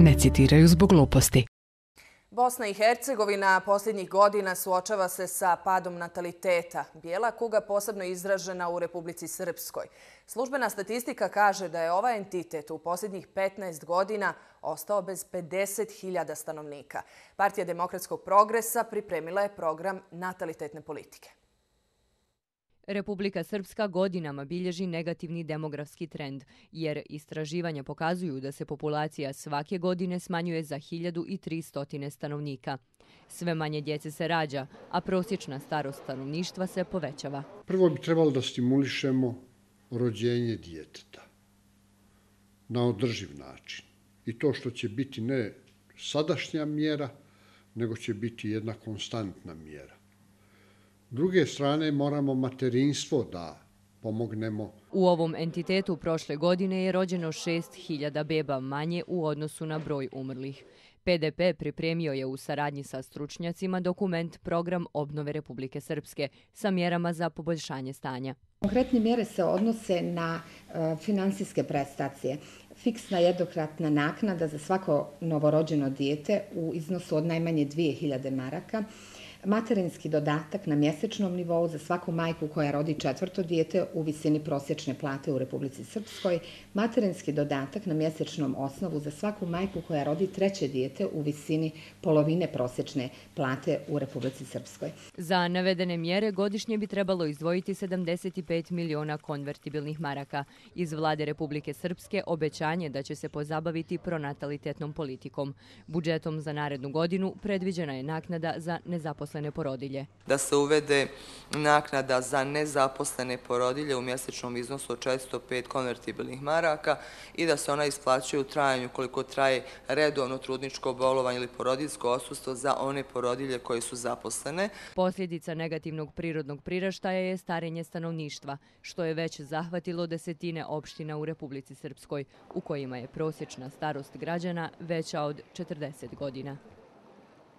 ne citiraju zbog gluposti. Bosna i Hercegovina posljednjih godina suočava se sa padom nataliteta. Bijela kuga posebno izražena u Republici Srpskoj. Službena statistika kaže da je ovaj entitet u posljednjih 15 godina ostao bez 50.000 stanovnika. Partija demokratskog progresa pripremila je program natalitetne politike. Republika Srpska godinama bilježi negativni demografski trend, jer istraživanja pokazuju da se populacija svake godine smanjuje za 1300 stanovnika. Sve manje djece se rađa, a prosječna starost stanovništva se povećava. Prvo bi trebalo da stimulišemo rođenje djeteta na održiv način. I to što će biti ne sadašnja mjera, nego će biti jedna konstantna mjera. S druge strane, moramo materinstvo da pomognemo. U ovom entitetu prošle godine je rođeno 6.000 beba manje u odnosu na broj umrlih. PDP pripremio je u saradnji sa stručnjacima dokument Program obnove Republike Srpske sa mjerama za poboljšanje stanja. Konkretne mjere se odnose na finansijske prestacije. Fiksna jednokratna naknada za svako novorođeno dijete u iznosu od najmanje 2.000 maraka, materinski dodatak na mjesečnom nivou za svaku majku koja rodi 4. dijete u visini prosječne plate u Republici Srpskoj, materinski dodatak na mjesečnom osnovu za svaku majku koja rodi 3. dijete u visini polovine prosječne plate u Republici Srpskoj. Za navedene mjere godišnje bi trebalo izdvojiti 75 miliona konvertibilnih maraka. Iz vlade Republike Srpske obećanje da će se pozabaviti pronatalitetnom politikom. Budžetom za narednu godinu predviđena je naknada za nezaposlene porodilje. Da se uvede naknada za nezaposlene porodilje u mjesečnom iznosu od 405 konvertibilnih maraka i da se ona isplaćuje u trajanju koliko traje redovno trudničko bolovanje ili porodiljsko odsustvo za one porodilje koje su zaposlene. Posljedica negativnog prirodnog priraštaja je starenje stanovništva, što je već zahvatilo desetine opština u Republici Srpskoj, u kojima je prosječna starost građana veća od 40 godina.